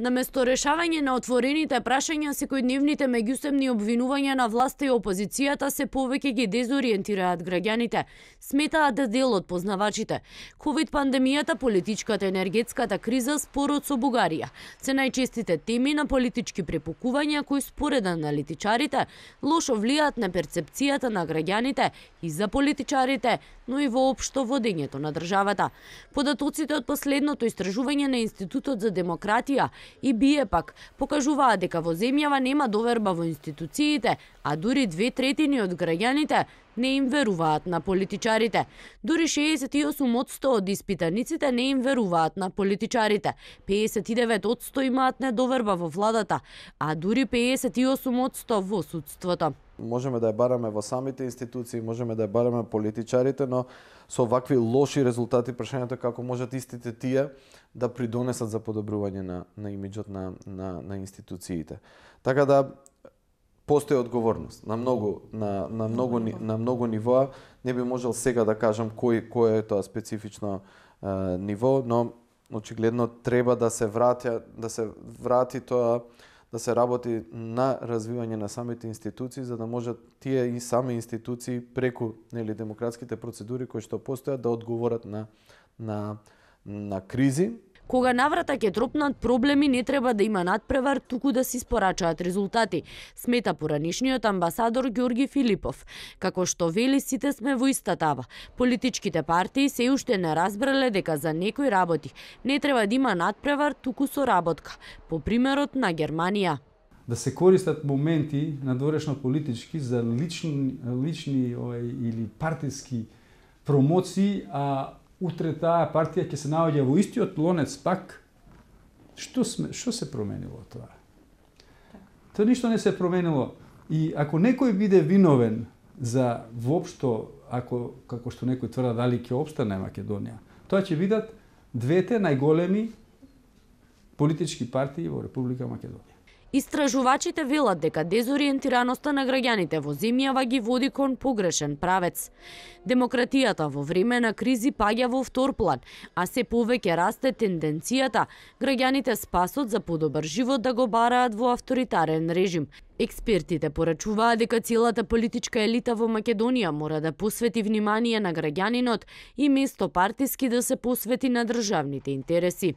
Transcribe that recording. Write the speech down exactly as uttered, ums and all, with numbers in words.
Наместо решавање на отворените прашања, секојдневните меѓусебни обвинувања на власта и опозицијата се повеќе ги дезориентираат граѓаните, сметаат да дел од познавачите. ковид пандемијата, политичката и енергетската криза, спорот со Бугарија се најчестите теми на политички препукувања кои според аналитичарите лошо влијаат на перцепцијата на граѓаните и за политичарите, но и воопшто водењето на државата. Податоците од последното истражување на Институтот за демократија и бие пак покажуваат дека во земјава нема доверба во институциите, а дури две третини од граѓаните не им веруваат на политичарите. Дури шеесет и осум одсто од испитаниците не им веруваат на политичарите. пеесет и девет одсто имаат недоверба во владата, а дури пеесет и осум одсто во судството. Можеме да ја бараме во самите институции, можеме да ја бараме политичарите, но со вакви лоши резултати прашањето како можат истите тие да придонесат за подобрување на, на имиджот на, на, на институциите. Така да постои одговорност на многу на на многу на многу нивоа. Не би можел сега да кажам кој кој е тоа специфично е, ниво, но очигледно треба да се врати да се врати тоа, да се работи на развивање на самите институции, за да можат тие и сами институции преку нели демократските процедури кои што постојат да одговорат на на на кризи. Кога наврата ќе тропнат проблеми, не треба да има надпревар, туку да се испорачаат резултати, смета поранишниот амбасадор Ѓорги Филипов. Како што вели, сите сме во иста тава. Политичките партии се уште не разбрале дека за некои работи не треба да има надпревар, туку соработка, по примерот на Германија. Да се користат моменти надворешно политички за лични, лични ој, или партиски промоции, а утре таа партија ќе се наоѓа во истиот лонец пак. Што сме, што се променило тоа? Тоа ништо не се променило. И ако некој биде виновен за воопшто, ако како што некој тврда дали ќе опстане Македонија, тоа ќе бидат двете најголеми политички партии во Република Македонија. Истражувачите велат дека дезориентираноста на граѓаните во земјава ги води кон погрешен правец. Демократијата во време на кризи паѓа во втор план, а се повеќе расте тенденцијата граѓаните спасот за подобар живот да го бараат во авторитарен режим. Експертите порачуваат дека целата политичка елита во Македонија мора да посвети внимание на граѓанинот и место партиски да се посвети на државните интереси.